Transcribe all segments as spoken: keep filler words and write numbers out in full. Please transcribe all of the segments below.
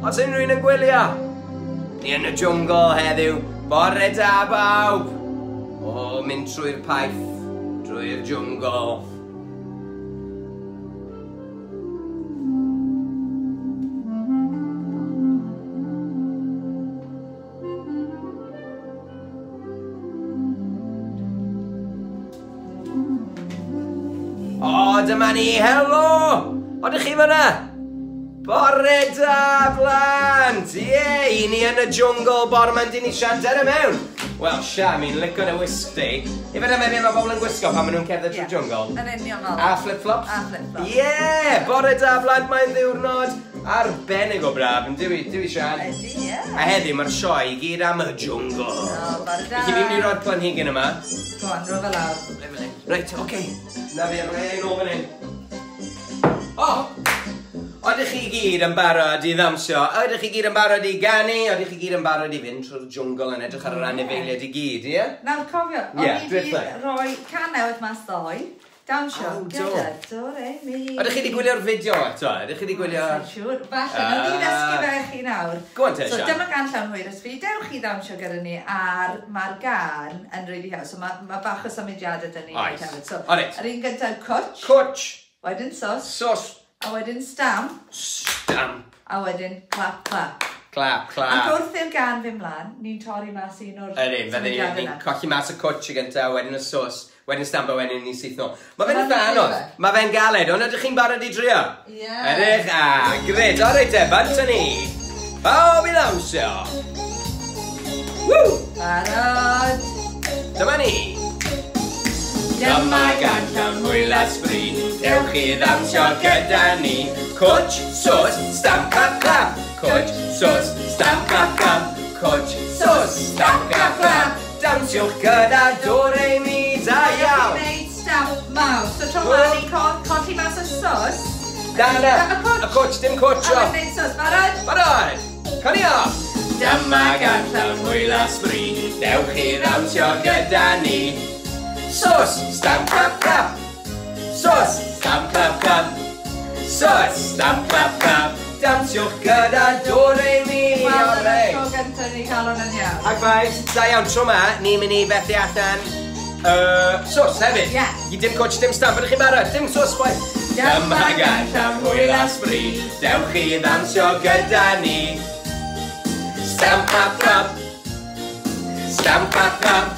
Os unrhyw un yn gwylio, ni yn y jwngl heddiw. Bore da bawb! O, mynd trwy'r paith, drwy'r jwngl. O, dyma ni, helo! Odych chi fyna? Bore da, blant! Ie, yeah, i ni yn y jwngl bore ma'n dyn ni Sian, der y mewn! Wel, Sian, mi'n licio dy wisg di. Ife na mewn mae bobl yn gwisgo pan maen nhw'n cerdded trwy jwngl? Yn union fel. A flip-flops? A flip-flops. Ie! Yeah, bore da, blant, mae'n ddiwrnod arbennig o braf, yn dywi, dywi, Sian? Ydy, ie. A heddiw mae'r sioe i gyd am y jwngl. O, bore da. Felly fi'n mynd i roi'r planhigyn yma. Go on, ro fe lawr. Reit, oce. Okay. Na fi, am rhaid nôl fan hyn. O! Oedych chi gyd yn barod i ddawnsio? Oedych chi gyd yn barod i ganu? Oedych chi gyd yn barod i fynd trwy'r jwngl yn edrych ar yr anifeiliaid i gyd, ie? Nawr, cofio, o'n i wedi rhoi can newydd mas ddoe, dawnsio gyda do re mi. Oedych chi wedi gwylio'r fideo eto? Oedych chi wedi gwylio... Sa'n siŵr. Falle, nawn ni ddysgu fe chi nawr. Go on te, So Sian. dyma gan llawn hwyr ysbryd. Dewch chi ddawnsio gyda ni, a'r mae'r gan yn really hawdd. So mae ma bach o symudiadau dyn ni Oes. hefyd. So, O, reit. yr un gyntaf, cwtch. Cwtch. Wedyn sos. Sos. A wedyn stamp. Stamp. A wedyn clap, clap. Clap, clap. Ac wrth i'r gan fynd mlaen, ni'n torri mas un o'r Ydyn, fydden ni'n ni colli mas y cwtch y gyntaf, wedyn y sos, wedyn stamp a wedyn ni syth nôl. Mae fe'n eitha anodd, mae fe'n galed, ond ydych chi'n barod i drio? Ie. Ydych? A, gred, o reit e, bant ni. Pawb i ddawnsio. Woo! Barod. Dyma ni. Dyma gan llawn hwyl a sbri, dewch i ddawnsio gyda ni. Cwtch, sos, stamp, clap, clap. Cwtch, sos, stamp, clap, clap. Cwtch, sos, stamp, clap, clap. Dawnsiwch gyda do re mi, da iawn. Ni'n gwneud stamp mawr. So tro ma ni'n colli mas o sos. Na, na, Y cwtch. Y cwtch, dim cwtch. A wedyn gwneud sos. Barod? Barod. Coni off. Dyma gan llawn hwyl a sbri, dewch i ddawnsio gyda ni. Sos, stamp, clap, clap. Sos, stamp, clap, clap. Sos, stamp, clap, clap. Dawnsiwch gyda do re mi. Wel, dyna'r tro gyntaf ni cael hwnna'n iawn. Ac faith, da iawn, tro ma, ni'n mynd i fethu allan uh, sos hefyd. Ie. I dim cwtch, dim stamp, ydych chi'n barod? Dim sos, boi. Dyma gan llawn hwyl a sbri, dewch i ddawnsio gyda ni. Stamp, clap, clap. Stamp, clap, clap.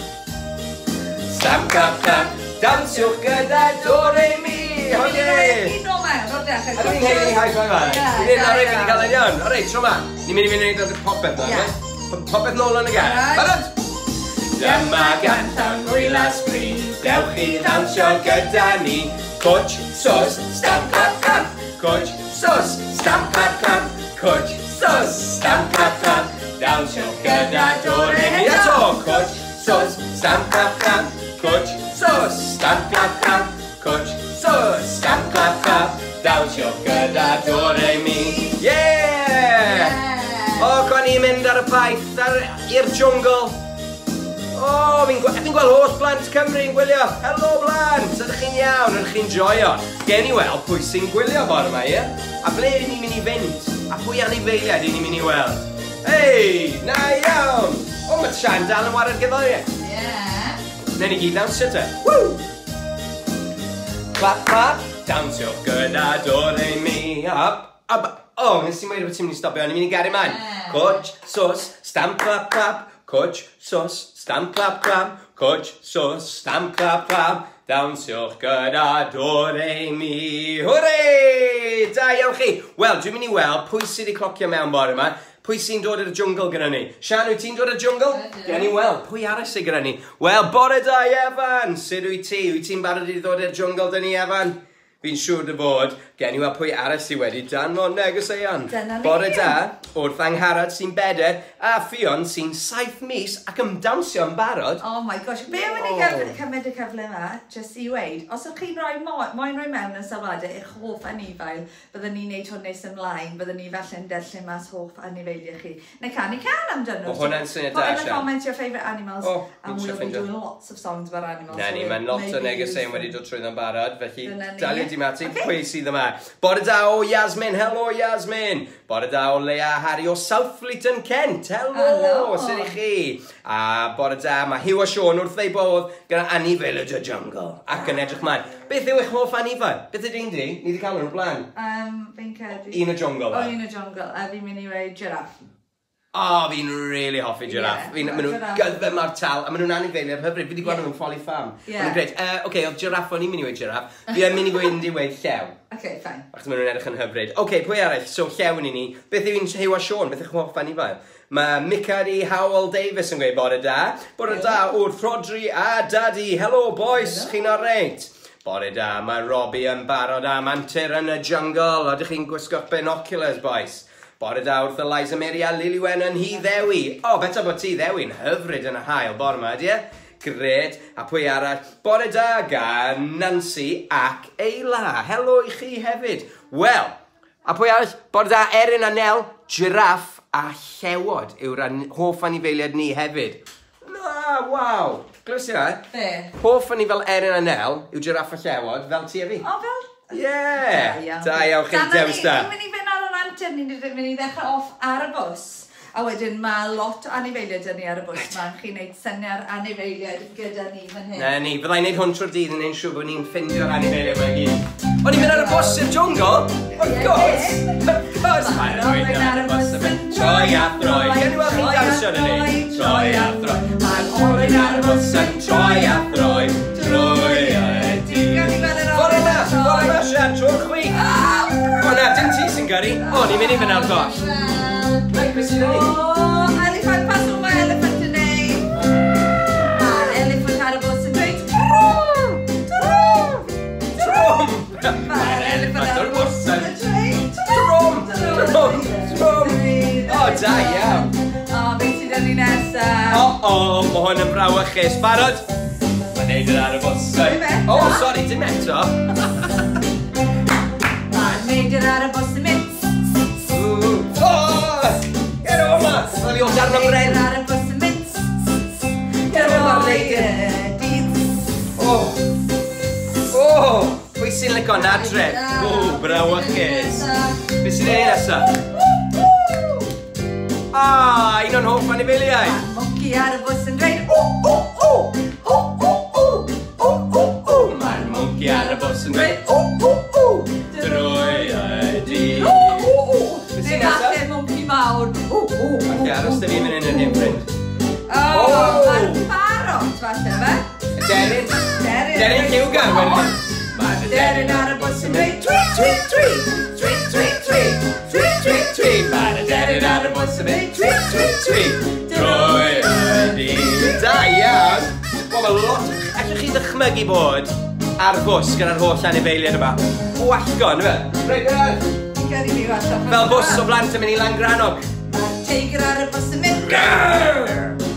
Stamp, clap, clap. Dawnsiwch gyda do re mi. Ni'n rhoi un nôl mewn o'r dechrau. Ydw i'n haeddu high five arall? Ie, Ni'n da rhaid i iawn. gael yn iawn. O reit, tro ma. Ni'n mynd i fynd i wneud popeth na, Ie. ie? Popeth nôl yn y gan. Barod? Barod? Dyma gan llawn hwyl a sbri, dewch i ddawnsio gyda ni. Cwtch, sos, stamp, clap, clap. Cwtch, sos, stamp, clap, clap. Cwtch, sos, stamp, clap, clap. Dawnsio gyda do re mi. Eto! Cwtch, sos, stamp, clap, clap. Cwtch, sos, stamp, clap, clap. Cwtch, sos, stamp, clap, clap. Dawnsio gyda do re mi. Yeah! Ie. O, con i'n mynd ar y paith, ar, i'r jwngl. O, fi'n gwe fi'n gweld holl blant Cymru yn gwylio. Helo blant, ydych chi'n iawn, ydych chi'n joio? Gen i weld pwy sy'n gwylio bore yma, ie? A ble ydyn ni'n mynd i fynd? A pwy anifeiliaid ydyn ni'n mynd i weld? Hei, na iawn! O, mae Sian dal yn ware'r gerddoriaeth. Ie. Newn ni gyd dawnsio te. Woo! Clap, clap, dawnsio gyda do re mi. Up, up. O, nes i weud bod ti'n mynd i stopio, o'n i'n mynd i gario mlaen. Ie. Cwtch, sos, stamp, clap, clap. Cwtch, sos, stamp, clap, clap. Cwtch, sos, stamp, clap, clap. Dawnsiwch gyda do re mi. Hwrê! Da iawn chi. Wel, dwi'n mynd i weld pwy sydd wedi clocio mewn bore yma. Pwy sy'n dod i'r jwngl gyda ni? Sian, wyt ti'n dod i'r jwngl? Ydw. Gen i weld, pwy arall sydd gyda ni? Wel, bore da, Evan! Sut wyt ti? Wyt ti'n barod i ddod i'r jwngl dyn ni, Evan? Fi'n siŵr dy fod. Gen i weld pwy arall sydd wedi danfon negeseuon. Dyna ni. Bore da, wrth Angharad sy'n bedair, a Ffion sy'n saith mis ac yn dawnsio yn barod. Oh my gosh, be am i ni Oh. cymryd y cyfle yma, jyst i weud, os ydych chi'n rhoi mo moyn rhoi mewn yn sylwadau eich hoff anifail, byddwn ni'n neud hwn nes ymlaen, byddwn ni falle'n darllen mas hoff anifeiliau chi. Neu canu cân amdano. Ma' hwnna'n syniad da, Put in the Sian. comments your favourite animals, Oh, and fi'n we'll be ffeindio. doing lots of songs about animals. Na so ni, we'll mae'n lot o maybe negeseuon use wedi them. dod trwyddo'n barod, felly Dyna ni. daliwch Matty Matty, Ocê. Pwy sydd yma? Bore da o Yasmin, helo Yasmin. Bore da o Leia Harry o Southfleet yn Kent, helo, Helo. Sut i chi? A bore da, mae Hugh a Sean wrth ei bodd gyda anifail y jungle. Ac yn edrych mlaen. Beth yw eich hoff anifail? Beth ydy'n di? Ni wedi cael nhw'n blaen. Um, fi'n credu... Un y jungle, O, fe? un y jungle. A fi'n mynd i weud giraffe. O, oh, fi'n really hoffi giraffe. Ie, Fi'n, maen nhw'n giraffe. gyddfau mor tal, a maen nhw'n anifeiliaid hyfryd. Fi wedi gweld Ie. nhw'n Folly Farm. Ie. Maen nhw'n grêt. Uh, Oce, okay, oedd giraffe, o'n i'n mynd i weud giraffe. Fi yn mynd i gweud i weud llew. Okay, fine. Achos maen nhw'n edrych yn hyfryd. Oce, okay, pwy arall? So, llew yn i ni. Beth yw'n Hugh a Sean? Beth yw'ch hoff anifail? Mae Micari Howell Davis yn gweud bore da. Bore da wrth Rodri a Daddy. Hello, boys. Helo. Chi'n alright? Bore da, mae Robbie yn barod am antur yn y jungle. Ydych chi'n gwisgo'ch binoculars, boys? Bore da wrth Eliza Mary a Lily Wen yn Nhŷ Ddewi. O, oh, beta bod Tŷ Ddewi'n hyfryd yn y haul bore yma, ydy e? Grêt. A pwy arall? Bore da gan Nancy ac Eila. Helo i chi hefyd. Wel, a pwy arall? Bore da Erin a Nel, giraff a llewod yw'r an hoff anifeiliaid ni hefyd. Na, waw. Glywes i na? Be? Hoff anifail Erin a Nel yw giraff a llewod, fel ti a fi. O, fel... Ie! Da iawn chi, Dyna dewis ni, da. Ni'n mynd i fynd ar yr antur, ni'n mynd i ddechrau off ar y bws. A wedyn mae lot o anifeiliaid 'da ni ar y bws. Mae'n chi'n neud syniad anifeiliaid gyda ni fan hyn. Na ni, fyddai'n neud hwn trwy'r dydd yn neud siŵr bod ni'n ffindio'r anifeiliaid yma i gyd. O'n i'n mynd ar y bws i'r jungle? Of Ie. course! Of course! Mae'r olwyn ar y bws yn troi a throi. Gen i weld chi'n dawnsio yn ni? Troi a throi. Mae'r olwyn ar y bws yn troi a throi. Troi y dydd. Gawn ni weld yr Fore olwyn na, yn troi. fore na, Sian, trwy'r chwith. O na, dim ti sy'n gyrru. O, ni'n mynd i fynd ar goll. Reit, beth sy'n ni? O, elephant, pas o mae elephant yn neud. Mae'r elephant ar y bws yn dweud trwm, trwm, Trwm! Mae'r elephant ar y bws yn dweud Trwm! Trwm! Trwm! O, da iawn. O, beth sydd yn ni nesaf? O, o, mae hwn yn frawychus. Barod? Mae'n neud yr ar y bws. Dim eto. O, sori, dim eto. Mae'r neidr ar y bws yn mynd. Ww. O! Ger o yma! Fel i o darn o bren. Neidr ar y bws yn mynd. Ger o yma'r Droi neidr. y dydd. O! O! Pwy sy'n licio nadredd? O, brawychus. Beth sy'n ei nesaf? Ah, un o'n hoff anifeiliaid. Monkey ar y bws yn dweud o, o, o, o, o, o, O, o, o! Mae'r monkey ar y bws yn dweud o, o, o! Drwy y dydd. o, o, o. Beth sy'n Neu nesaf? falle monkey mawr. O, o, o, Falle aros da fi mynd yn yr hen ffrind. O, O! mae'r parrot falle fe. Deryn. Deryn. Deryn lliwgar wedyn. Mae'r Deryn ar y bws yn dweud twi, twi, twi, twi, twi, twi, twi, twi, twi. Mae'r deryn ar y bws yn mynd twi, twi, twi. Drwy y dydd. Da iawn. Wel, mae lot... Allwch chi ddychmygu bod ar fws gyda'r holl anifeiliaid yma? Wallgo, ynddo fe? Reit, reit. Fi'n credu fi falle. Fel bws o blant yn mynd i Langrannog. Mae'r teigr ar y bws yn mynd. Grrr!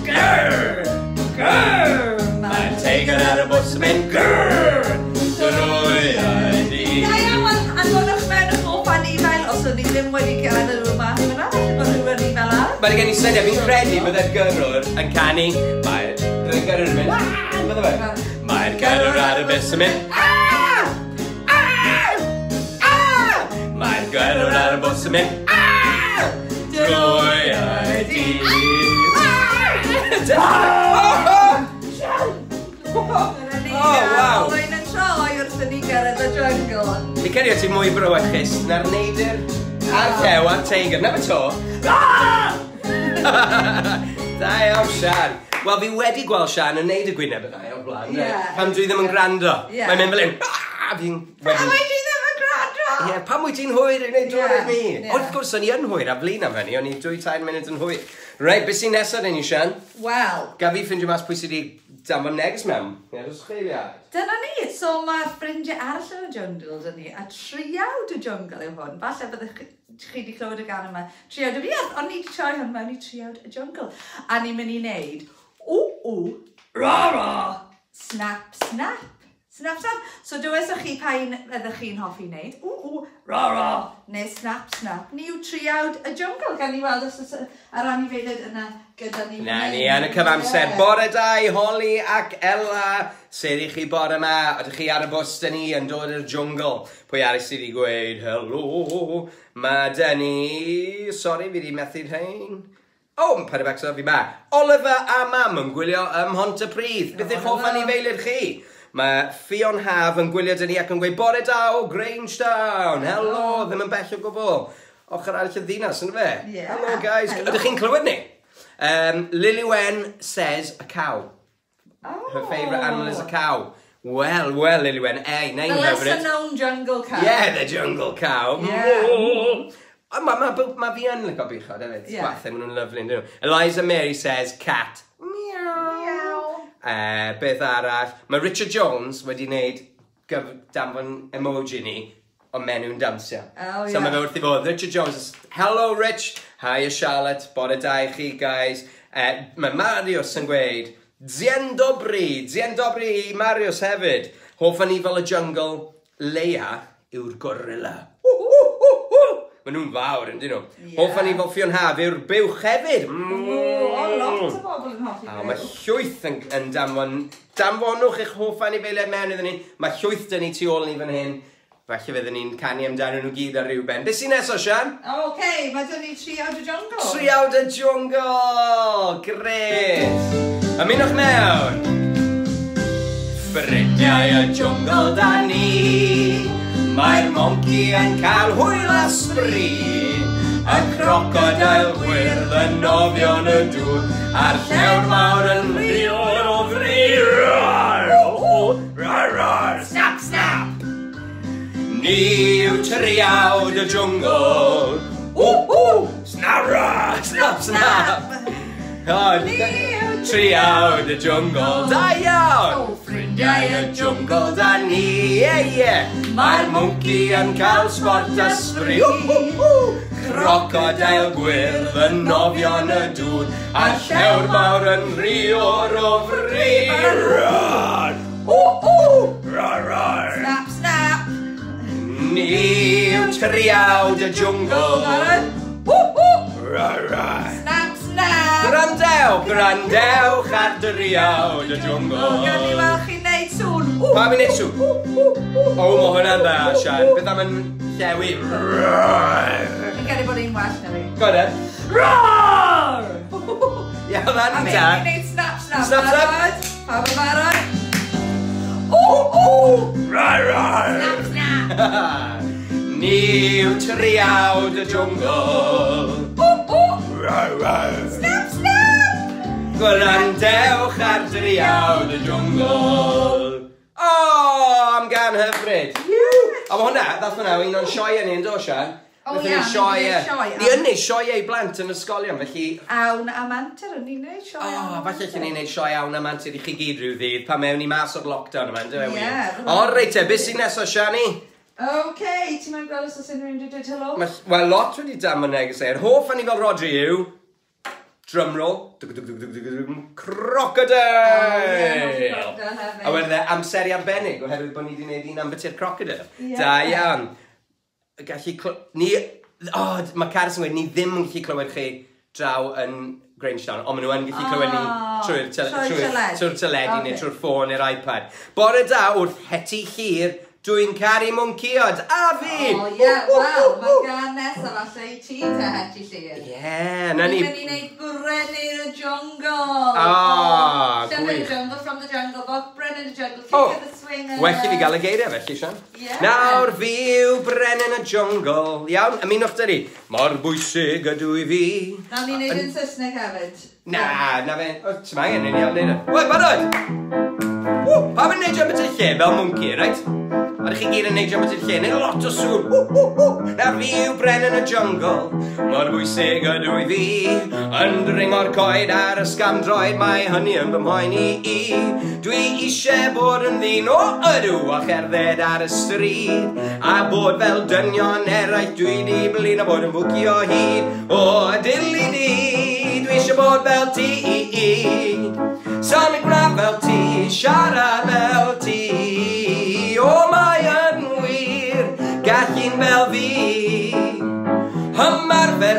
Grrr! Grrr! Mae'r teigr ar y bws yn mynd grrr! Drwy y dydd. Da iawn, wel, anfonwch mewn y hoff anifail os o'n ni ddim wedi gadael nhw mas fyna, falle bod rhywun anifail arall. Mae'n gen i syniad, fi'n credu bydde'r gyrrwr yn canu. Mae'r bydde'r gyrrwr yn mynd, aaa, bydde fe? Mae'r gyrrwr ar y bws yn mynd, aaa! Aaa! Aaa! Mae'r gyrrwr ar y bws yn mynd, aaa! Drwy y dydd. Aaa! Dyna ni, Oh, waw. Olwyn yn troi wrth i ni gyrraedd y jungle. Fi credu o ti mwy brawychus na'r neidr a'r llew a'r teigr. Na fe to. Ah! Da iawn, Sian. Wel, fi wedi gweld Sian yn neud y gwyneb yna o'r blaen. Ie. Pam dwi ddim yn gwrando. Ie. Mae'n mynd fel un. "Ah!" Fi'n Pam wyt ti ddim yn gwrando? Ie, pam wyt ti'n hwyr i wneud dod Ie, i mi? ie. Wrth gwrs, o'n i yn hwyr a flin am hynny, o'n i dwy tair munud yn hwyr. Reit, beth sy'n nesaf ni, Sian? Wel, Gaf fi ffindio mas pwy sydd wedi danfon neges mewn? Ie, os chi fi. Dyna ni. So mae ffrindiau arall yn y jungle dyn ni, a triawd y jungle yw hwn. Falle byddech chi chi wedi clywed y gan yma. Triawd y fuarth, ond ni wedi troi hwn mewn i triawd y jungle. A ni'n mynd i wneud, ww, ww, ra, ra, snap, snap, Snap, snap. So dywedwch chi pa un ydych chi'n hoffi wneud. Ww, ww, ra, ra. Neu snap, snap. Ni yw triawd y jwngl. Gan ni weld os oes yr anifeiliaid yna gyda ni. Na ni, yn y cyfamser. Yeah. Bore da i Holly ac Ella. Sut i chi bore yma? Ydych chi ar y bws dyn ni yn dod i'r jwngl? Pwy arall sydd wedi gweud helo? Mae dyn ni... Sori, fi wedi methu rhain. O, oh, paid â becso, fi ma. Oliver a Mam yn gwylio ym Mhontypridd. Beth yw'ch hoff anifeiliaid chi? Mae Ffion Haf yn gwylio dyn ni ac yn gweud bore da o Grangetown. Helo, ddim yn bell o gwbl. Ochr arall y ddinas, yn fe? Yeah. Hello, guys. Hello. Ydych chi'n clywed ni? Um, Lily Wen says a cow. Oh. Her favourite animal is a cow. Well, well, Lily Wen, ei, name The hyfryd. lesser known jungle cow. Yeah, the jungle cow. Yeah. Mae ma, ma, ma fi yn licio buchod hefyd. Yeah. Gwathau, maen nhw'n lyfli, yn dyn nhw. Eliza Mary says cat. Meow. Meow. Uh, beth arall, mae Richard Jones wedi wneud gyf danfon emoji ni o menu'n dawnsio. Oh, So yeah. mae fe wrth i fod. Richard Jones, is, hello Rich, hiya Charlotte, bore da i chi guys. Uh, mae Marius yn gweud, Dzień dobry, dzień dobry i Marius hefyd. Hoff anifail y jungle, Leia yw'r gorilla. Ww, ww, ww, ww. Maen nhw'n fawr, yn dyn nhw. Yeah. Hoff anifail Ffion Haf yw'r buwch hefyd. O, lot o bobl yn hoffi A mae buwch. llwyth yn, yn danfon... Danfonwch eich hoff anifeiliaid mewn iddyn ni. Mae llwyth dyn ni tu ôl ni fan hyn. Falle fyddwn ni'n canu amdano nhw gyd ar ryw ben. Beth sy'n nesaf, Sian? Oce, mae dyn ni Triawd y Jwngl. Triawd y Jwngl! Gret! Ymunwch mewn! Ffrindiau y jwngl da ni, mae'r monci yn cael hwyl a sbri. Y crocodeil gwyrdd yn nofio yn y dŵr, a'r llewr mawr yn rio'r o fri. Snap, snap! Ni yw triawd y jwngl. Ww, ww! Snap, snap, snap! Oh, Ni yw Triawd y jwngl, da iawn! O, Ffrindiau y jwngl da ni, ie, ie! Mae'r mwnci yn cael sbort a sbri, ww, ww, ww! Crocodeil gwyrdd yn nofio yn y dŵr, a'r llewr mawr yn rio'r o fri. Ww, ww! Snap, snap! Ni yw triawd y jwngl. Ww, ww! Snap, Snap, snap! Gwrandewch, gwrandewch ar driawd y O, jwngl. gawn ni weld chi'n neud sŵn. Ww, Pam i'n neud sŵn? ww, ww, ww, O, mae hwnna'n dda, Sian. Beth am yn llewi? Fi'n credu bod un well na fi. Go on then. Roar! Ie, hwnna'n A mi da. ni'n neud snap, snap. Snap, snap. Barod? Pawb yn barod? Ww, ww! Snap, snap! Ni yw triawd y jwngl. Ww, ww! Snap, snap! Gwrandewch ar driawd y jwngl. O, am gan hyfryd. A mae hwnna, ddath hwnna un o'n sioeau ni yn do, Sian? O, Nathon ie, ni sioe. ni'n neud sioe, Ni yn neud sioeau i blant yn ysgolion, felly... Awn am antur, o'n i'n neud sioe. O, awn am falle antur. allan ni'n neud sioe awn am antur i chi gyd rhyw ddydd, pan mewn i mas o'r lockdown yma, yndyfe, Ie, wir? fydd O, reit te, beth sy'n nesaf, Siani? Oce, ti'n mynd gweld os oes unrhyw un wedi dweud helo? Mae, wel, lot wedi danfon neges e. Yr hoff anifail Rodri yw... Drumroll. Dwg, dwg, dwg, dwg, dwg, dwg, Crocodile! O, ie, crocodile hefyd. A wedyn e, amseru arbennig, oherwydd bod ni wedi gwneud un ambiti'r crocodile. Ie. Da iawn. Gallu cl... Ni... O, oh, mae Carys yn gweud, ni ddim yn gallu clywed chi draw yn Grangetown, ond maen nhw yn gallu clywed ni Oh, trwy'r tele- trwy'r trwy'r- teledu. trwy'r teledu neu Ocê. trwy'r ffôn neu'r iPad. Bore da wrth Heti Llyr, dwi'n caru mwncïod, a fi! O ie, wel, mae'r gan nesaf falle i ti te, Heti Llyr. Ie, na ni. Ni'n mynd i wneud Brenin y Jungle. Ah, Llyfr y gwych. Jungle from the Jungle Book, Brenin y Jungle, King O, of the Swing. well i fi gael y geiriau felly, Sian. Ie. Nawr fi yw Brenin y Jungle. Iawn, ymunwch dy ni. Mor bwysig ydw i fi. Nawn ni wneud yn Saesneg hefyd. Na, na fe. O, ti'n angen, ni'n iawn neud e. Wel, barod! Ww, pam yn neidio ambiti'r lle fel mwnci, reit? Ydych chi gyd yn neidio ambiti'r lle, neud lot o sŵn. Ww, ww, ww. Nawr fi yw Brenin y Jungle, mor bwysig ydw i fi. Yn dringo'r coed ar y sgamdroed, mae hynny yn fy mhoeni i. Dwi eisiau bod yn ddyn o ydw a cherdded ar y stryd. A bod fel dynion eraill, dwi di blino bod yn fwcio hyd. O, dili di, dwi eisiau bod fel ti. Symud gwna fel ti, siarad fel ti.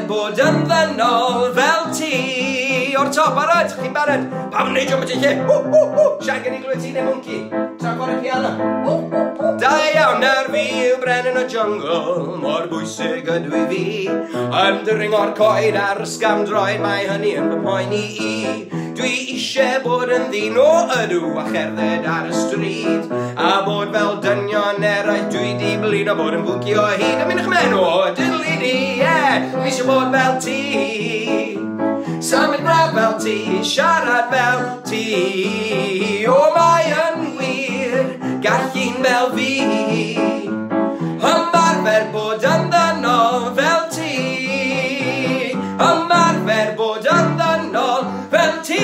bod yn ddynol fel ti. O'r top, barod, chi'n barod? Pam yn neidio beth i lle? Ww, ww, ww. Sian, gen i glywed ti neu mwnci? Tra'n chwarae piano. Ww, ww, ww. Da iawn, nawr fi yw brenin y jungle, mor bwysig ydw i fi. Yn dringo'r coed ar ysgafndroed, mae hynny yn fy mhoeni i. Dwi eisiau bod yn ddyn o ydw a cherdded ar y stryd. A bod fel dynion eraill, dwi di blino bod yn fwnci o hyd. Ymunwch mewn o diddly di, ie, dwi eisiau bod fel ti. Symud braf fel ti, siarad fel ti. O, mae yn wir, gall un fel fi. Ymarfer bod yn ddynol fel ti. Ymarfer bod yn ddynol fel ti.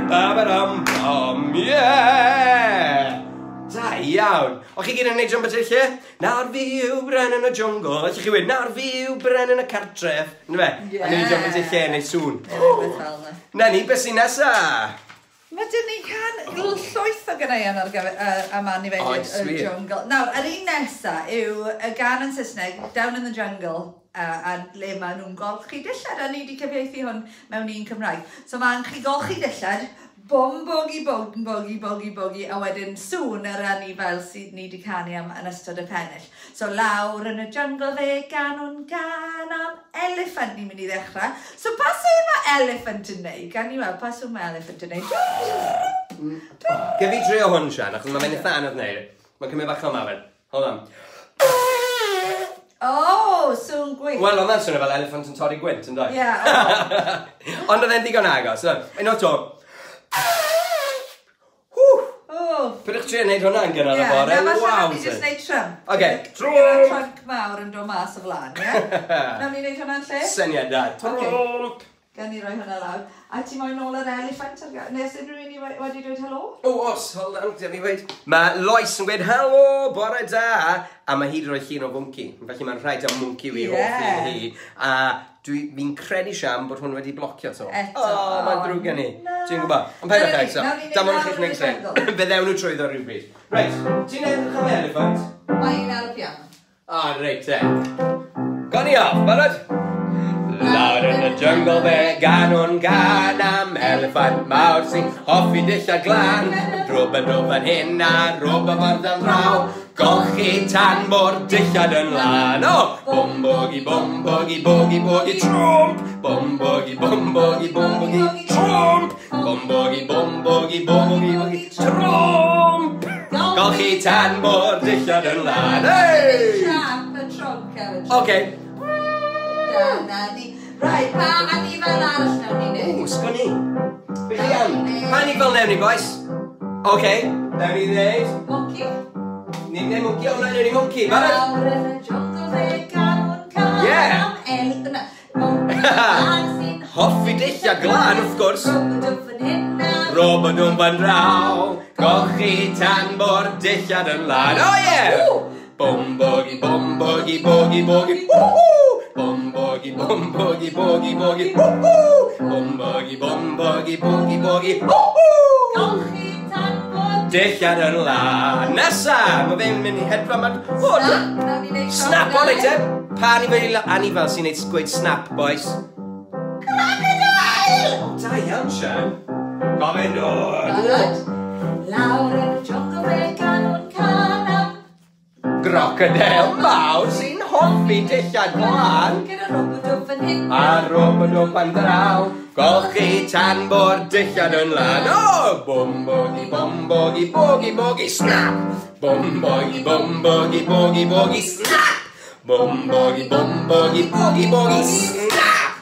Ba-ba-dam bam, yeah! Da iawn. O chi gyd yn neud jump at lle? Nawr fi yw brenin y jungle. Allwch chi weud, nawr fi yw brenin y cartref. Yndyfe? Yeah. A neud jump at lle, neud sŵn. Rhywbeth fel 'na. Na ni, beth sy'n nesa? Mae dyn ni can llwyth o ganeuon ar gyfer uh, am anifeiliaid Oes, y wir. jungle. Nawr, yr un nesa yw y gân yn Saesneg, Down in the Jungle, uh, a le maen nhw'n golchi dillad, a ni wedi cyfieithu hwn mewn un Cymraeg. So mae'n chi golchi dillad, bom bogi bog bogi bogi bogi, a wedyn sŵn yr anifail sydd ni wedi canu am yn ystod y pennill. So lawr yn y jungle fe ganwn gan am elephant ni'n mynd i ddechrau. So pa sŵn mae elephant yn neud? Gan ni weld pa sŵn mae elephant yn neud? Gef fi drio hwn, Sian, achos mae'n eitha anodd wneud. Mae'n cymryd bach o ymarfer. Hold on. O, sŵn gwych. Wel, oedd e'n swnio fel elephant yn torri gwynt, yn dweud? Ie, o. Ond oedd e'n ddigon agos. So, un o'r to. Ww! O. Pydwch trio wneud hwnna yn gynnar Ie, y bore. na falle Waw, nawn ni jyst neud Trump. Ocê, Trump. Trump. Trump mawr yn dod mas o flaen, ie? Nawn ni wneud hwnna'n lle? Syniad da. Ocê. Trump! Gan ni roi hwnna lawr. A ti moyn nôl yr elephant ar ga- Nes unrhyw un i we- wedi dweud helo? O, os, hold on, dyma fi weud. Mae Lois yn gweud, helo, bore da. A mae hi wedi rhoi llun o fwnci. Felly mae'n rhaid am mwnci wi Ie. hoff un hi. A dwi, fi'n credu, Sian, bod hwn wedi blocio to. Eto. O, mae'n ddrwg gen i. Na. Ti'n gwybod? Ond paid â Nawn ni- eto. nawn ni Damon neud chi'ch lawr yn y next time. jungle. Fe ddewn nhw trwyddo rhywbryd. Reit, ti'n edrych am elephant? Mae un ar y piano. O, reit te. Gawn ni off, barod? Lawr yn y jungle fe ganwn gan am elephant mawr sy'n hoffi dillad glân. Rwb yn rwb yn hyn a rwb yn ffordd am draw. Golchi tan bo'r dillad yn lân. O! Bom bogi bom bogi bogi bogi trwmp. Bom bogi bom bogi bom bogi trwmp. Bom bogi bom bogi bogi bogi trwmp. Golchi tan bo'r dillad yn lân. Hey! Siap y trunk hefyd. Oce. Dyna ni. Right, pa anifail arall nawn ni Ww, neud? sgwn i. Be chi am? Pa anifail newn ni, boys? Oce, newn ni ddeud. Monkey. Ni'n neud monkey, o, na, newn ni monkey, barod? Lawr yn y jungle fe ganwn can Yeah. am el... Na, monkey mawr sy'n Hoffi dillad glân, wrth gwrs. Rwb yn hyn a Rwb yn nhw'n fan draw, golchi tan bo'r dillad yn lân. Oh yeah! Ww! Bom bogi, bom bogi, bogi, bogi, woohoo! Bom bogi, bom bogi, bogi, bogi, woohoo! Bom bogi, bom bogi, bogi, bogi, woohoo! Golchi tan bod Dillad yn lân. Nesa! Mae fe'n mynd i hedfan ma'n... O, Snap, nawn ni neud Snap, o reit te. Pa anifail anifail sy'n neud gweud snap, boys? Crocodile! O, da iawn, Sian. Gofyn dod. Barod? Lawr yn y jungle fe ganwn can am Crocodile mawr sy'n hoffi dillad glân. Gyda rwb yn fan hyn A rwb yn nhw fan draw, golchi tan bo'r dillad yn lân. O! Bom bogi, bom bogi, bogi, bogi, snap! Bom bogi, bom bogi, bogi, bogi, snap! Bom bogi, bom bogi, bogi, bogi, snap!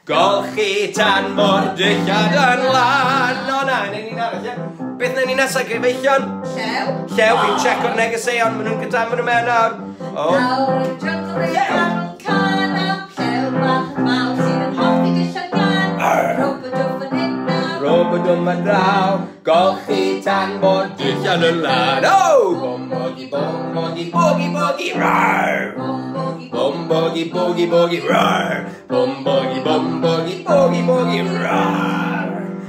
Golchi tan bo'r dillad yn lân. O na, newn ni'n arall, ie? Beth newn ni nesaf, gyfeillion? Llew. Llew, fi'n checo'r negeseuon, maen nhw'n gyda, maen nhw mewn nawr. O, Lawr yn y jungle fe Llew. ganwn can am llew bach mawr sydd yn hoffi dillad glân. Rwb yn fan hyn a Rwb yn dwm yn draw, golchi tan bo'r dillad yn lân. O! Bom bogi, bom bogi, bogi, bogi, rar! Bom bogi Bom bogi, bogi, bogi, rar! Bom bogi, bom bogi, bogi, bogi, rar!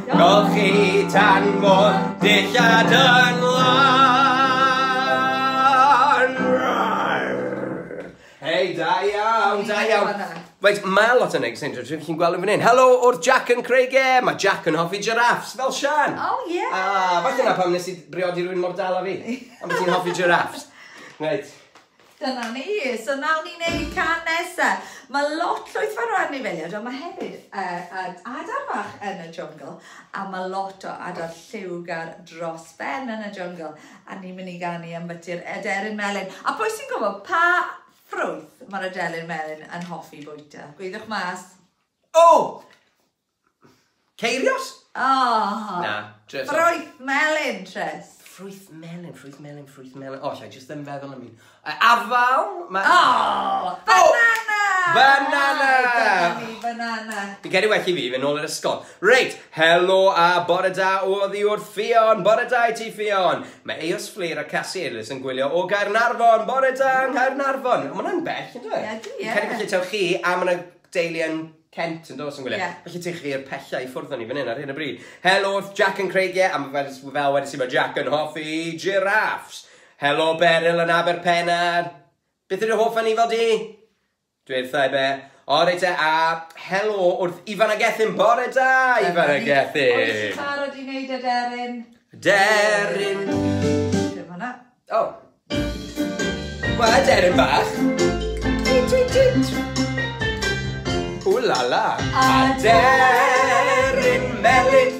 Golchi tan bo'r dillad yn lân. Rar! Hei, da iawn, da iawn. Reit, mae lot o neges yn dod, chi'n gweld yn fan hyn. Helo wrth Jack yn Creigiau. Mae Jack yn hoffi giraffes, fel Sian. Oh, yeah. Ah, falle na pam nes i briodi rhywun mor dal â fi. Am bod ti'n hoffi giraffes. Reit. Dyna ni. So nawn ni wneud cân nesa. Mae lot llwyth fawr o anifeiliaid, ond mae hefyd uh, adar bach yn y jungle, a mae lot o adar lliwgar dros ben yn y jungle. A ni'n mynd i ganu am byty'r aderyn melyn. A pwy sy'n gwybod pa ffrwyth mae'r aderyn melyn yn hoffi bwyta? Gweithiwch mas. O! Ceirios? Oh. Na, Tris. Ffrwyth melyn, Tris. Ffrwyth melyn, ffrwyth melyn, ffrwyth melyn. O, oh, just ddim feddwl am un. Afal? Ma... Oh! Banana! Banana! Dyna ni, banana. Fi'n credu well i fi fynd nôl i'r ysgol. Reit, helo a bore da oddi wrth Ffion. Bore da i ti, Ffion. Mae Eos Fflur a Cassie Elis yn gwylio o Gaernarfon. Bore da yng Nghaernarfon. Mae hwnna'n bell, yn dweud? Ie, Fi'n credu felly taw chi a mae yna deulu yn Kent yn dos yn gwylio. Yeah. Felly ti chi'r pellau i ffwrdd o'n i fan hyn ar hyn o bryd. Helo wrth Jack yn Creigiau, a mae fel, fel wedys i, mae Jack yn hoffi giraffes. Helo Beryl yn Aberpennar. Beth yw'r hoff anifal di? Dweud wrtha i be. O, reit e, a helo wrth Ifan a Gethin. Bore da, Ifan a Gethin. Oes ti'n barod i wneud y deryn? Deryn. Dim hwnna. O. Wel, deryn bach. Tweet, tweet, tweet. Ww la la. A deryn melyn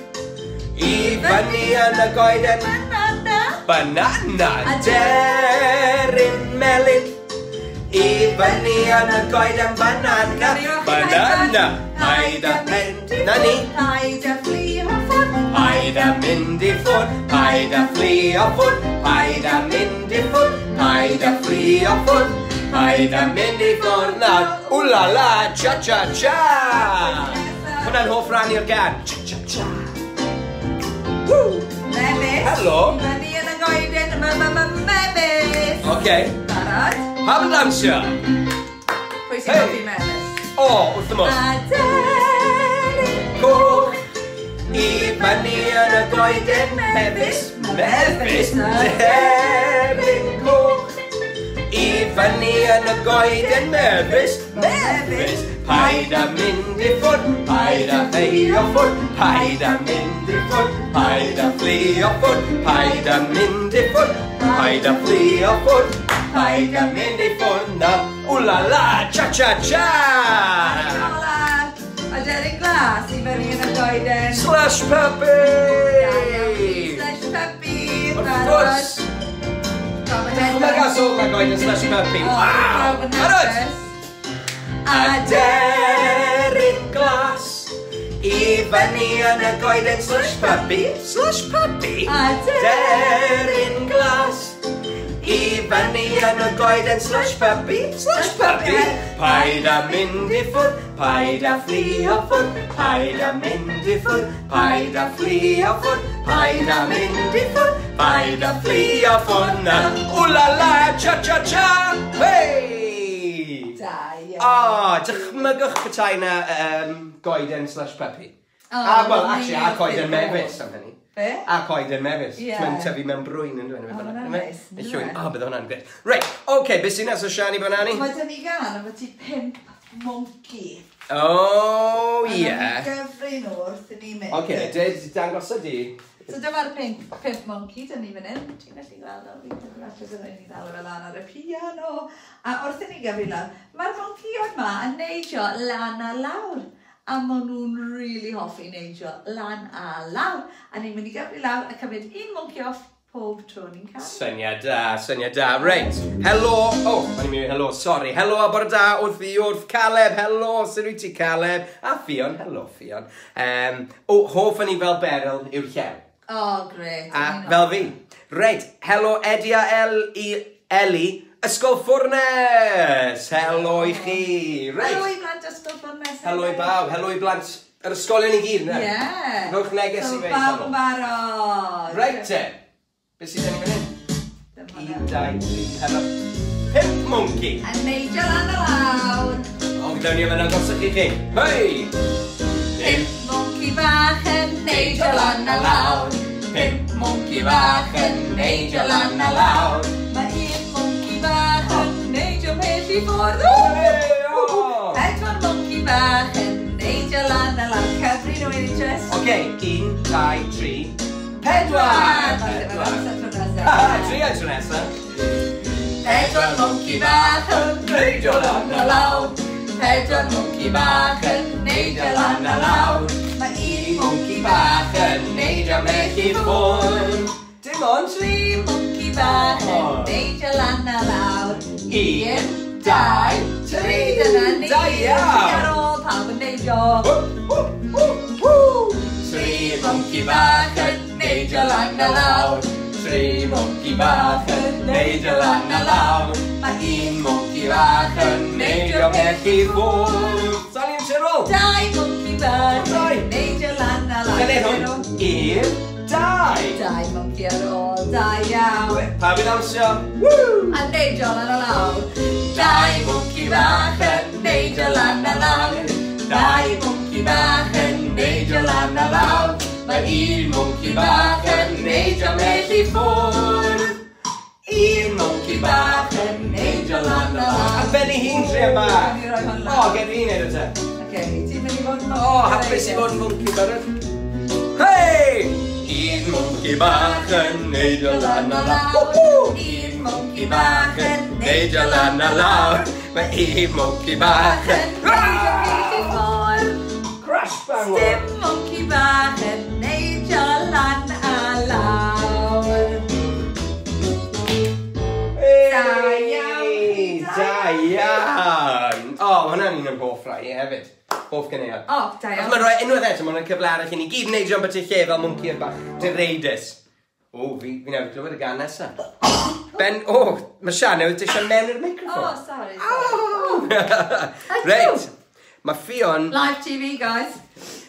i fyny yn y goeden. Banana. Banana. Deryn melyn i fyny yn y goeden. Banana. Banana. Paid â mynd. Na ni. Paid â fflio ffwrdd. Paid â mynd i ffwrdd. Paid â fflio ffwrdd. Paid â mynd i ffwrdd. Paid â fflio ffwrdd. Paid â mynd i ffwrdd nawr. Ww la la, cha cha cha. Hwna'n hoff ran i'r gân. Cha cha cha. Woo! Mefus. Helo. Fyny yn y goeden, ma ma ma mefus. Oce. Barod. Pam yn dawnsio? Pwy sy'n hoffi mefus? O, wrth y modd. A deryn coch i fyny yn y goeden. Mefus, mefus, deryn coch i fyny yn y goeden. Mefus, mefus. Paid â mynd i ffwrdd, paid â fflio ffwrdd, paid â mynd i ffwrdd, paid â fflio ffwrdd, paid â mynd i ffwrdd, paid â fflio ffwrdd, paid â mynd i ffwrdd na. Ww la la, cha cha cha! Hola! A deryn glas i fyny yn y goeden. Slush puppy! Slush puppy! Wrth gwrs! Dychmyga sôn mae goeden slush puppy. Waw! Barod! A deryn glas i fyny yn y goeden. Slush puppy, slush puppy. A deryn glas i fyny yn y goeden. Slush puppy, slush puppy. Paid â mynd i ffwrdd, paid â fflio ffwrdd, paid â mynd i ffwrdd, paid â fflio ffwrdd, paid â mynd i ffwrdd, paid â fflio ffwrdd na. Ww la la, cha cha cha, hey! Da iawn. O, dychmygwch petai na um, goeden slush puppy. O, a, wel, actually, a ni coeden wrth ei mefus am hynny. Be? A coeden mefus. Ie. Mae'n tyfu mewn brwyn yn dweud. O, ma' hwnna'n neis, Neu yndyw llwyn. e? O, bydde hwnna'n gret. Reit, oce, beth sy'n nesaf, Siani Banani? Mae dyn ni gan am ti pump monkey. O, A ie. nawn ni gyfri nhw wrth i ni mynd. Oce, dweud, dangosa di. So dyma'r pump, pump monkey, dyn ni fan hyn. Ti'n gallu gweld o, fi'n credu falle dylwn ni ddal fe lan ar y piano. A wrth i ni gyfri lan, mae'r monkeyod ma yn neidio lan a lawr. A maen nhw'n really hoffi neidio lan a lawr. A ni'n mynd i gyfri lawr a cymryd un monkey off pob tro ni'n cael. Syniad da, syniad da. Reit, helo. O, oh, o'n i'n mynd i helo, sori. Helo a bore da wrth i wrth Caleb. Helo, sut wyt ti, Caleb? A Ffion, helo Ffion. Um, o, hoff yn i fel Beryl yw'r llew. O, oh, gret. A fel fi. Reit, helo Eddie a El i Eli, Ysgol Ffwrnes. Helo i chi. Reit. Helo i blant Ysgol Ffwrnes. Helo i bawb, helo i blant yr ysgolion i gyd, ne? Ie. Rhowch neges So i fe. bawb yn barod. Reit te. Beth sydd gen i fan hyn? Dyma Un, fe. dau, tri, pedwar, pump monkey. A neidio lan a lawr. O, gyda ni yma'n agosach i chi. Hei! Pump monkey bach yn neidio lan a lawr. Pump monkey bach yn neidio lan a lawr. Mae un monkey bach yn neidio mhell i ffwrdd. Hey! Oce, un, dau, tri, pedwar! Pedwar. Tri a tro nesaf. Pedwar mwnci bach yn neidio lan a lawr. Pedwar mwnci bach yn neidio lan a lawr. Mae un mwnci bach yn neidio mell i ffwrdd. Dim ond tri mwnci bach yn neidio lan a lawr. Un, dau, tri. Dyna ni. Da iawn. Tri ar ôl pawb yn neidio. Tri mwnci bach yn neidio lan a lawr. Tri mwnci bach yn neidio lan a lawr. Mae un mwnci bach yn neidio mell i ffwrdd. Sali yn tyrol. Dau mwnci bach yn neidio lan a lawr. Dyna hwn. Un, dau. Dau mwnci ar ôl, da iawn. Pawb i ddawnsio. Woo! A neidio lan a lawr. Dau mwnci bach yn neidio lan a lawr. Dau mwnci bach yn neidio lan a lawr. Mae un mwnci bach yn neidio mell i ffwrdd. Un mwnci bach yn neidio lan a lawr. A ben ei hun, trio bach. O, gen i wneud o te. Oce, ti'n mynd i fod yn mwnci. O, hapus i fod yn mwnci barod. Hei! Un mwnci bach yn neidio lan a lawr. Un mwnci bach yn neidio lan a lawr. Mae un mwnci bach yn neidio mell i ffwrdd. Crash bang! Dim mwnci bach yn neidio lan a lawr. Da iawn! Da iawn! O, ma' hwnna'n un o'n hoff rai i hefyd. Hoff ganeuon. O, da iawn. Achos mae'n rhoi unwaith eto, mae'n cyfle arall i ni gyd neidio ambyti lle fel mwnci bach direidus. O, fi, fi newydd glywed y gan nesaf. Ben, o, oh, mae Sian newydd disio mewn i'r microffon. O, sorry. sorry. Reit, mae Ffion... Live T V, guys.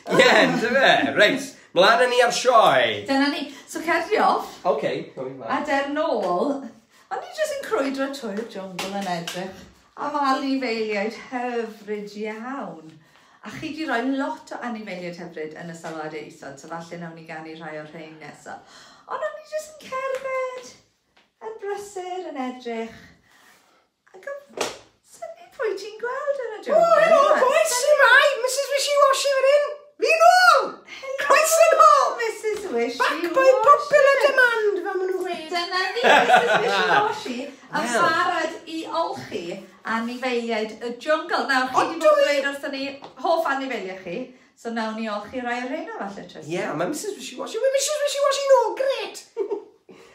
Ie, yeah, yndyfe. Reit, mlaen â ni ar sioe. Dyna ni. So, cer off. OK. A der nôl, o'n i jyst yn crwydro trwy'r jwngl yn edrych am anifeiliaid hyfryd iawn. A chi di roi lot o anifeiliaid hyfryd yn y sylwadau isod, so falle nawn ni ganu rhai o'r rhain nesaf. Ond o'n i jyst yn cerdded, yn brysur, yn edrych. Ac yn synnu pwy ti'n gweld yn y jwngl. Oh, helo, boys, shwmae, Missus Wishy Washy fan hyn. Fi nôl! Croeso nôl! Missus Wishy Back by popular demand, fel maen nhw'n gweud. Dyna ni, Missus Wishy Washy, yn barod i olchi anifeiliaid y jwngl. Nawr, chi wedi bod yn dweud wrthon ni hoff anifeiliaid chi, so nawn ni olchi rai o'r rheina falle, Tristan. Ie, yeah, mae Missus Wishy Washy, mae Missus Wishy Washy nôl, gret!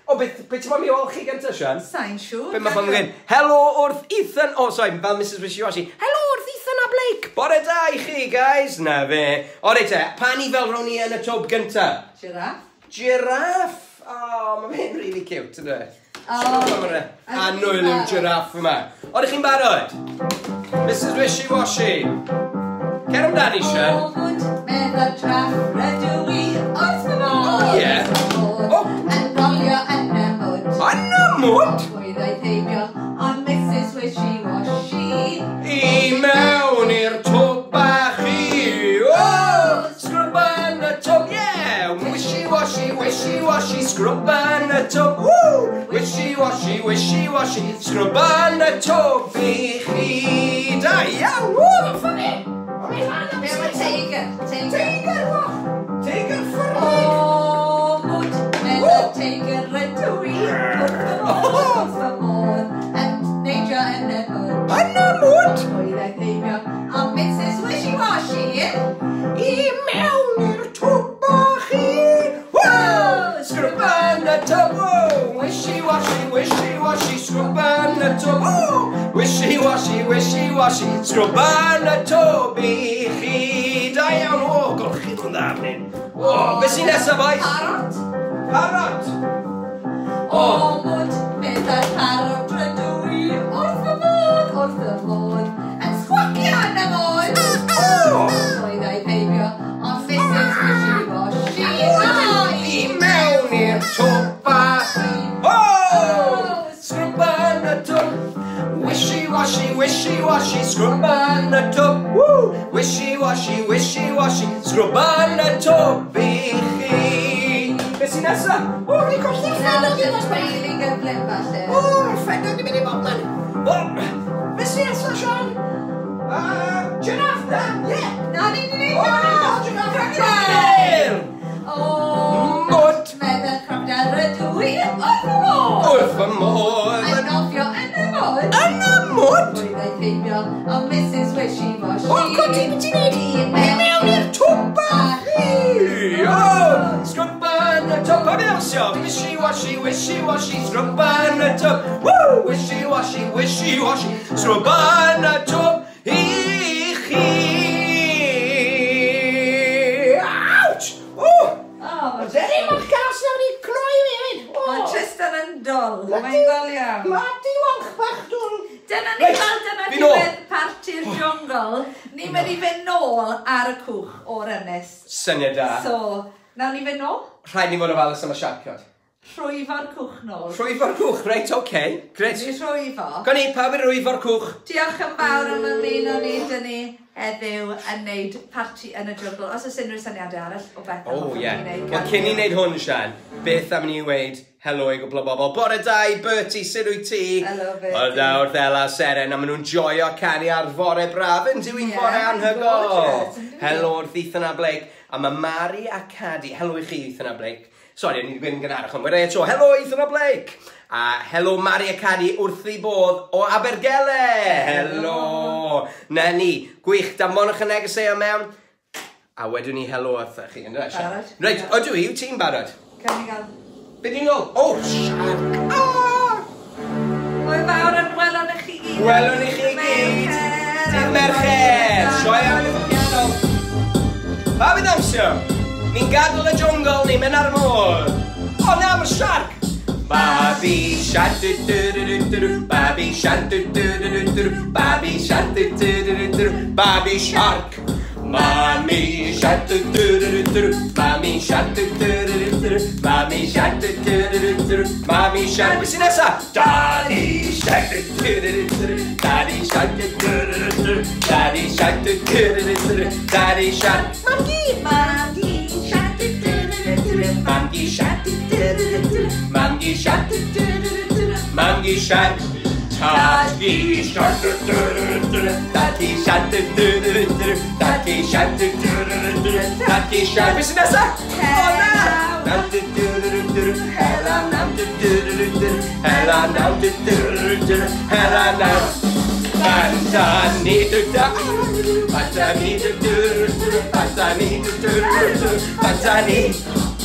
O, beth, beth ti'n moyn mi olchi gyntaf, Sian? Sa'n siŵr. Be mae pobl yn gweud? Helo wrth Ethan, oh, sorry, fel Missus Wishy Washy. Helo wrth Ethan a Blake. Bore da i chi, guys. Na fe. O, reit te, pa ni fel rown ni yn y twb gyntaf? Giraffe. Giraffe. O, mae fe'n really cute, ynddo fe? Oh, Annwyl yw'r giraffe yma. O, ydych chi'n barod? Missus Wishy Washy. Cer amdani, Sian. O, mwd, meddwl traff, rydw i wrth fy modd. O, ie. O. Yn rolio yn y mwd. Yn y mwd? Pwy ddaeth heibio, ond Missus Wishy Washy. I mewn i'r twb bach i. O, sgrwb yn y twb, yeah. Wishy washy, wishy washy, sgrwb yn y twb, woo! Wishy washy, wishy washy, sgrwb yn y twb i chi. Da iawn, woo, mae'n ffynnu! Be am y teiger? Teiger, what? Teiger ffyrnig! O, mwd, meddwl teiger rydw i. Wrth fy modd, wrth fy modd, yn neidio yn y mwd. Yn y mwd? Pwy ddaeth heibio, ond Missus Wishy Washy. I mewn i'r twb bach i. Woo! Sgrwb yn y twb, woo! Wishy washy, wishy washy, sgrwb yn y twb, woo! Wishy washy, wishy washy, sgrwb yn y twb i chi. Da iawn, o, golchi nhw'n dda fan hyn. O, beth sy'n nesaf, boys? Parot. Parot. O, mwd, meddwl parot rydw i. Wrth fy modd, wrth fy modd, yn sgwacio yn y mwd. O! Pwy ddaeth heibio, ond Missus Wishy Washy. I mewn i'r twb bach. O! Sgrwb yn y twb. Wishy washy, wishy washy, sgrwb yn y twb. Woo! Wishy washy, wishy washy, sgrwb yn y twb i chi. Beth sy'n nesaf? O, fi colli'r ffedog i ddod. Really gyflym falle. O, mae'r ffedog di mynd i bobman. O! Beth sy'n nesaf, Sian? Giraffe, na? Ie. Na, ni di neud O, na! Giraffe! Crocodile! wrth fy modd. Yn nofio yn y mwd. Yn y mwd? Drwy ddeud heibio, o Missus Wishy-Washy. O, codi, beth ti'n neud? I mewn i'r twb bach. O, sgrwba yn y twb. Pawb i ddawnsio. Wishy-washy, wishy-washy, sgrwba yn y twb. Woo! Wishy-washy, wishy-washy, sgrwba yn y twb i chi. Ouch! O! O, mae Ddim o'r gas nawr i cloi fi hefyd. O. Mae Tristan yn dol. Mae'n ddol iawn. Bloody walch bach dwl. Dyna ni Reit, fel dyna fi nôl. diwedd parti'r jwngl. Ni'n mynd i fynd nôl ar y cwch o'r ynys. Syniad da. So, nawn ni fynd nôl? Rhaid ni fod yn ofalus am y siarcod. Rhwyfo'r cwch nôl. Rhwyfo'r cwch, reit, oce. Okay. Grêt. Ni rhwyfo. Gawn ni, pawb i rwyfo'r cwch. Diolch yn fawr am ymuno ni, dyn ni heddiw yn neud parti yn y jwngl. Os oes unrhyw syniadau arall o beth O, hoffwn ie. ni wneud, Wel, cyn i wneud hwn, Sian, beth am ni weud helo i gwbl o bobl. Bore da i Bertie, sut wyt ti? Helo, Bertie. Bore da wrth Ela Seren, a maen nhw'n joio canu ar fore braf yn dyw'n Ie, fore anhygoel. gorgeous, yndw? Helo wrth Ethan a Blake, a mae Mari a Cadi. Helo i chi, Ethan a Blake. Sori, o'n i wedi gweud yn gynharach, ond wedi eto. Helo Ethan a Blake. A helo Mari a Cadi wrth i bodd o Abergele. Helo. Na ni, gwych, danfonwch y negeseuon mewn. A wedwn ni helo wrthych chi, ynddo, Sian? Barod. Reit, ydw i, wyt ti'n barod? Cawn ni gael. Be di'n ôl? O, siarc! Ah! Hwyl fawr yn welwn i chi gyd. Welwn i chi gyd. Dydd Mercher! Sioe am y piano. Pawb i ddawnsio? Ni'n gadael y jwngl, ni'n mynd ar y môr. O na, mae'r siarc! Babi shark du du du du du du, babi shark du du du du du du, babi shark du du du du du du, babi shark. Mami shark du du du du du du, mami shark du du du du du du, mami shark du du du du du du, mami shark. Be sy'n nesa? Daddy shark du du du du du du, daddy shark du du du du du, daddy shark du du du du du du, daddy shark. Mamgu! Mamgu shark du du du du du du, Mamgu shark du du du du du, mamgu shark du du du du du, mamgu shark. Tadgu shark du du du du du, tadgu shark du du du du du, tadgu shark du du du du du, tadgu shark. Be sy'n nesa? O na! Nam du du du du du, hela nam du du du du du, hela nam du du du du, hela nam. Banta ni du da, banta ni du du du, banta ni du du du, banta ni.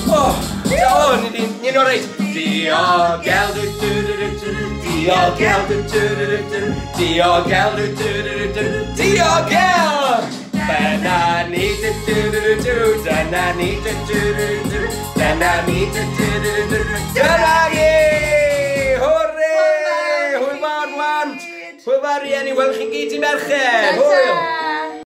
O, o, ni di, ni'n oreit. Diogel du du du du du, diogel du du du du du, diogel du du du du du, diogel. Dyna ni du du du du du, dyna ni du du du du, dyna ni du du du du, dyna ni! Hwrê! Hwyl fawr, blant! Hwyl fawr, rieni, welch chi gyd i merched! Hwyl!